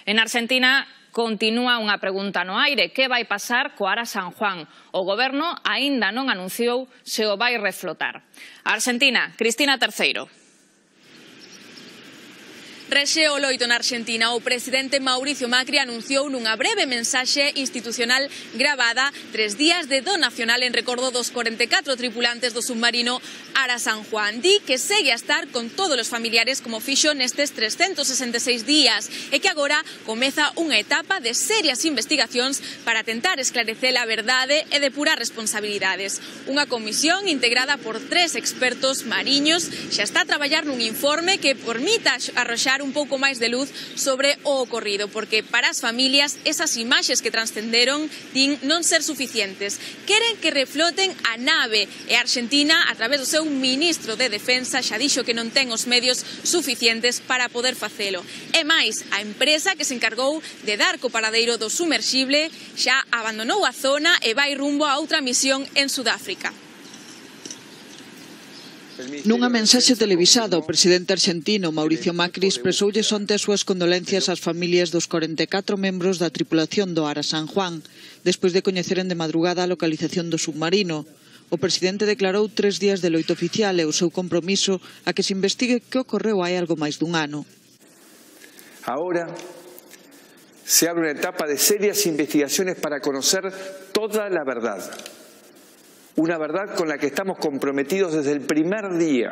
En Argentina continúa unha pregunta no aire. Que vai pasar co Ara San Juan? O Goberno aínda non anunciou se o vai reflotar. A Argentina, Cristina Terceiro. Rexe o loito na Argentina. O presidente Mauricio Macri anunciou nunha breve mensaxe institucional gravada 3 días de do nacional en recordo dos 44 tripulantes do submarino Ara San Juan. Di que segue a estar con todos os familiares como fixo nestes 366 días e que agora comeza unha etapa de serias investigacións para tentar esclarecer a verdade e depurar responsabilidades. Unha comisión integrada por 3 expertos mariños xa está a traballar nun informe que permita arroxar un pouco máis de luz sobre o ocorrido, porque para as familias esas imaxes que transcenderon din non ser suficientes. Queren que refloten a nave e a Argentina, a través do seu ministro de Defensa, xa dixo que non ten os medios suficientes para poder facelo. E máis, a empresa que se encargou de dar co paradeiro do sumerxible xa abandonou a zona e vai rumbo a outra misión en Sudáfrica. Nunha mensaxe televisada, o presidente argentino Mauricio Macri expresoulle onte as súas condolencias ás familias dos 44 membros da tripulación do Ara San Juan, despois de coñeceren de madrugada a localización do submarino. O presidente declarou 3 días de loito oficial e o seu compromiso a que se investigue que ocorreu hai algo máis dun ano. Ahora se abre unha etapa de serias investigaciones para conocer toda la verdad. Una verdad con la que estamos comprometidos desde el primer día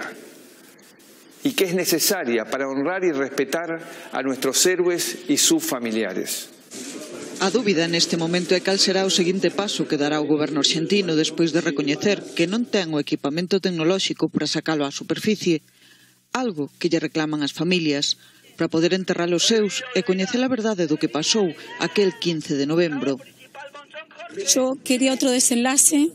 y que es necesaria para honrar y respetar a nuestros héroes y sus familiares. A dúbida neste momento é cal será o seguinte paso que dará o goberno argentino despois de recoñecer que non ten o equipamento tecnolóxico para sacalo á superficie, algo que lle reclaman as familias, para poder enterrar os seus e coñecer a verdade do que pasou aquel 15 de novembro. Yo quería otro desenlace.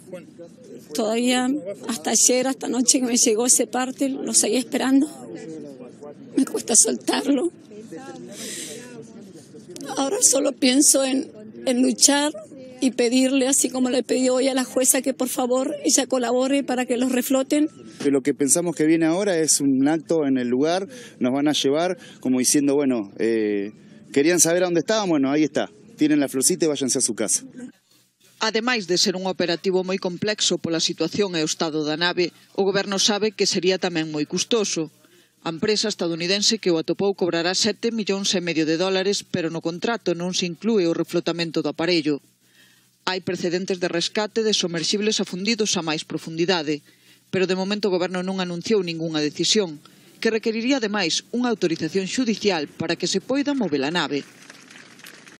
Todavía hasta ayer, hasta anoche que me llegó ese parte, lo seguía esperando. Me cuesta soltarlo. Ahora solo pienso en luchar y pedirle, así como le pedí hoy a la jueza, que por favor ella colabore para que los refloten. Lo que pensamos que viene ahora es un acto en el lugar, nos van a llevar como diciendo, bueno, querían saber a dónde estábamos, bueno, ahí está, tienen la florcita y váyanse a su casa. Ademais de ser un operativo moi complexo pola situación e o estado da nave, o goberno sabe que sería tamén moi custoso. A empresa estadounidense que o atopou cobrará $7,5 millóns, pero no contrato non se inclúe o reflotamento do aparello. Hai precedentes de rescate de somerxibles afundidos a máis profundidade, pero de momento o goberno non anunciou ningunha decisión, que requeriría ademais unha autorización xudicial para que se poida mover a nave.